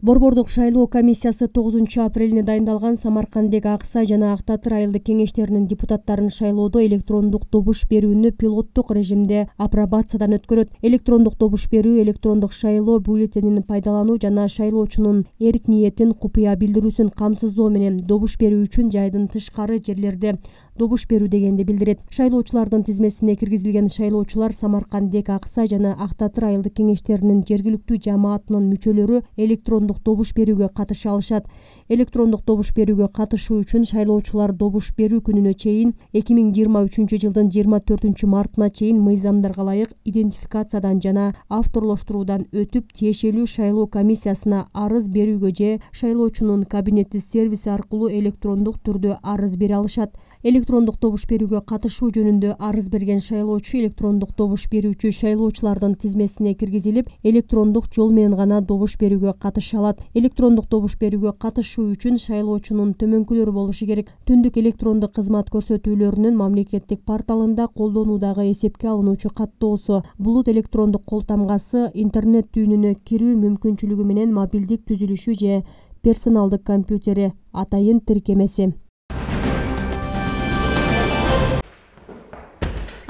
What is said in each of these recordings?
Борбордук шайлоо комиссиясы 9-апрелине дайындалган Самаркандек Ак Сай жана Ак Татыр айылдык кеңештеринин депутаттарын шайлоодо электрондук добуш берүүнү пилоттук режимде апробациядан өткөрөт. Электрондук добуш берүү, электрондук шайлоо бюллетенин пайдалануу жана шайлоочунун эрк ниетин купуя билдирүүсүн камсыздоо менен добуш берүү үчүн жайдын тышкары жерлерде добуш берүү дегенди билдирет. Шайлоочулардын тизмесине киргизилген шайлоочулар Самаркандек Ак Сай жана Ак Татыр айылдык кеңештеринин жергиликтүү жамаатынын мүчөлөрү электрондук добуш берүүгө катыша алышат. Электрондук добуш берүүгө катышуу үчүн шайлоочулар добуш берүү күнүнө чейин 2023-жылдын 24-мартына чейин мыйзамдарга ылайык идентификациядан жана авторлоштуруудан өтүп, тиешелүү шайлоо комиссиясына арыз берүүгө же шайлоочунун кабинеттик сервиси аркылуу электрондук түрдө арыз бере алышат. Электрондук добуш берүүгө катышуу жөнүндө арыз берген шайлоочу электрондук добуш берүүчү шайлоочулардын тизмесине киргизилип, электрондук жол менен гана добуш берүүгө катыша алат. Электрондук добуш берүүгө катышуу үчүн шайлоочунун төмөнкүлөрү болушу керек. Түндүк электрондук кызмат көрсөтүүлөрүнүн мамлекеттик порталында колдонуудагы эсепке алынуучу каттоосу, булут электрондук кол тамгасы, интернет түйүнүнө кирүү мүмкүнчүлүгү менен мобилдик түзүлүшү же персоналдык компьютери, атайын тиркемеси.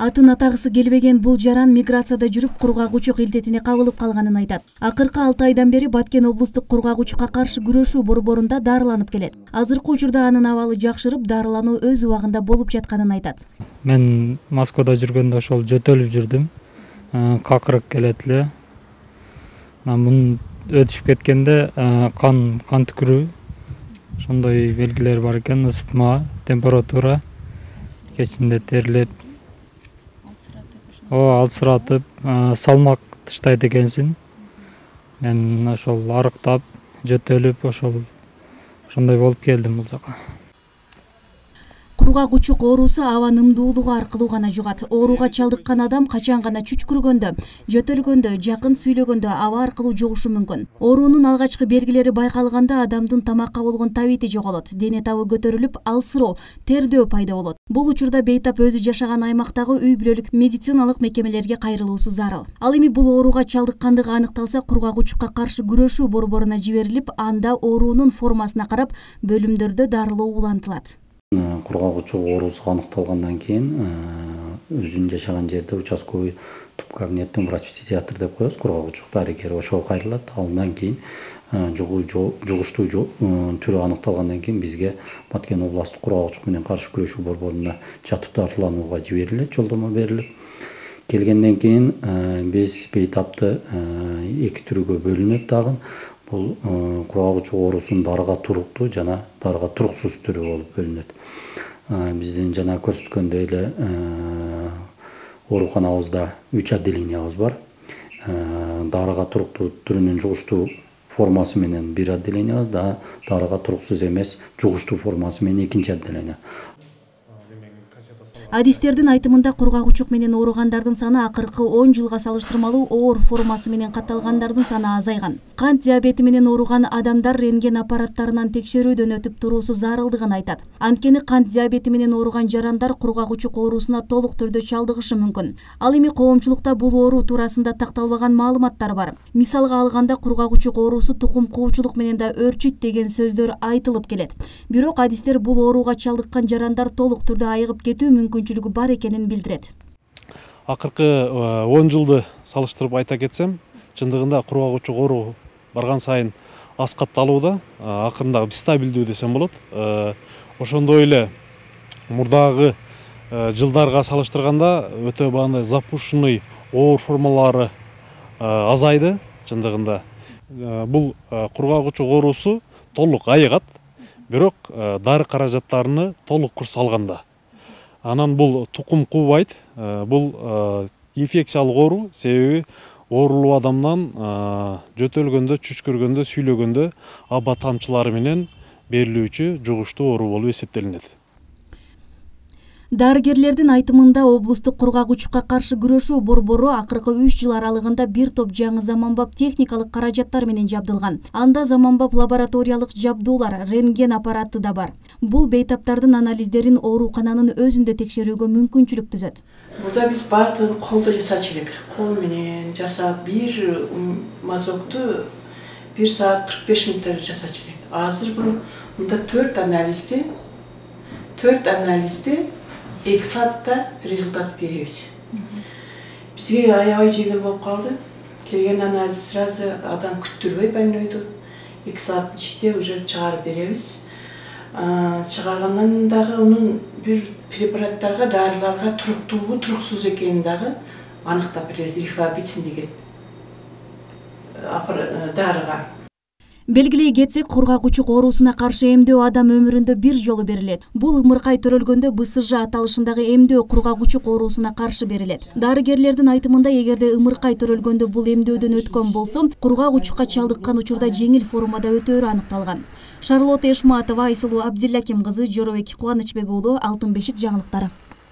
Атын атагысы келбеген бул жаран миграцияда жүрүп кургагучук илдетине кабылып калганын айтат. Акыркы 6 айдан бери Баткен облустук кургагучукка каршы күрөшүү борборунда дарыланып келет. Азыркы учурда анын абалы жакшырып, дарылануу өз убагында болуп жатканын айтат. Мен Москвада жүргөндө ошол жөтөлүп жүрдүм. Какырык келет эле. Мун өтүшүп кеткенде кан түкүрүү, ошондой белгилер бар экен, ысытма, температура, кечинде терилет. Алсыратып, салмак тыштайт экенсин. Мен ошол арыктап, жөтөлүп, ошондой болуп келдим бул жака. Кургагучук оорусу аба нымдуулугу аркылуу гана жугат. Ооруга чалдыккан адам качан гана чүчкүргөндө, жөтөлгөндө, жакын сүйлөгөндө аба аркылуу жугушу мүмкүн. Оорунун алгачкы белгилери байкалганда адамдын тамакка болгон табити жоголот, дене табы көтөрүлүп, алсыроо, тердөө пайда болот. Бул учурда бейтап өзү жашаган аймактагы үй-бүлөлүк медициналык мекемелерге кайрылуусу зарыл. Ал эми бул ооруга чалдыккандыгы аныкталса, кургагучукка каршы күрөшүү борборуна жиберилип, анда оорунун формасына карап бөлүмдөрдө дарылоо улантылат. Кургагучук оорусу аныкталгандан кийин өзүнүн жашаган жерде участковый тубкабинеттин врач-психиатр деп коебуз, кургагучук дарыгери, ошого кайрылат. Андан кийин жугуштуу түрү аныкталгандан кийин бизге Баткен областтык кургагучук менен каршы күрөшүү борборуна жатып дарыланууга жиберилет, жолдомо берилип. Келгенден кийин биз бейтапты 2 түрүгө бөлүнөт дагы. Бул кургагучук оорусунун дарыга туруктуу жана дарыга туруксуз түрү болуп бөлүнөт. Биздин жана көрсөткөндөй эле ооруканабызда 3 отделениябыз бар. Дарыга туруктуу түрүнүн жугуштуу формасы менен 1 отделениябыз, дарыга туруксуз эмес жугуштуу формасы менен 2 отделение. Адистердин айтымында кургагучук менен ооругандардын саны акыркы 10 жылга салыштырмалуу оор формасы менен катталгандардын саны азайган. Кант диабети менен ооруган адамдар рентген аппараттарынан текшерүүдөн өтүп туруусу зарылдыгын айтат. Анткени кант диабети менен ооруган жарандар кургагучук оорусуна толук түрдө чалдыгышы мүмкүн. Ал эми коомчулукта бул оору туурасында такталбаган маалыматтар бар. Мисалга алганда кургагучук оорусу тукум куучулук менен да өрчүйт деген сөздөр айтылып келет. Бирок адистер бул ооруга чалдыккан жарандар толук түрдө айыгып кетүү мүмкүнчүлүгү бар экенин билдирет. Акыркы 10 жылды салыштырып айта кетсем, чындыгында кургагучук оору барган сайын аскатталууда, акырында стабилдүү десем болот. Ошондой эле мурдагы жылдарга салыштырганда өтө багындай запущенный оор формалары азайды чындыгында. Бул кургагучук оорусу толук айыгат, бирок дары каражаттарыны толук курс алганда. Анан бул тукум куубайт, бул инфекциялык оору, себеби оорулуу адамдан жөтөлгөндө, чүчкүргөндө, сүйлөгөндө аба тамчылары менен берилүүчү жугуштуу оору болуп эсептелинет. Дарыгерлердин айтымында облустук кургагучукка каршы күрөшүү борбору акыркы 3 жыл аралыгында бир топ жаңы заманбап техникалык каражаттар менен жабдылган. Анда заманбап лабораториялык жабдуулар, рентген аппараты да бар. Бул бейтаптардын анализдерин оорукананын өзүндө текшерүүгө мүмкүнчүлүк түзөт. Burada biz kolda жасачу элек. Кол менен жасап бир мазокту 1 саат 45 мүнөттө жасачу элек. Азыр бул мында 4 анализди 2 саатта результат беребиз. Бизге аябай жеңил болуп калды. Келген анализди сразу адам күттүрбөй больнойду 2 сааттын ичинде уже чыгарып беребиз. Чыгаргандан дагы унун бир препараттарга, дарыларга туруктуубу, туруксуз экенин дагы аныктап беребиз. Рифабицин деген дарыга. Белгилей кетсек, кургак-учук оорусуна каршы эмдөө адам өмүрүндө бир жолу берилет. Бул ымыркай төрөлгөндө БСЖ аталышындагы эмдөө кургак-учук оорусуна каршы берилет. Дарыгерлердин айтымында, эгерде ымыркай төрөлгөндө бул эмдөөдөн өткөн болсо, кургак-учукка чалдыккан учурда жеңил формада өтөөрү аныкталган. Шарлотта Эшматова, Айсулуу Абдиллаким кызы, Жоробек Кубанычбек уулу, Алтын бешик жаңылыктары.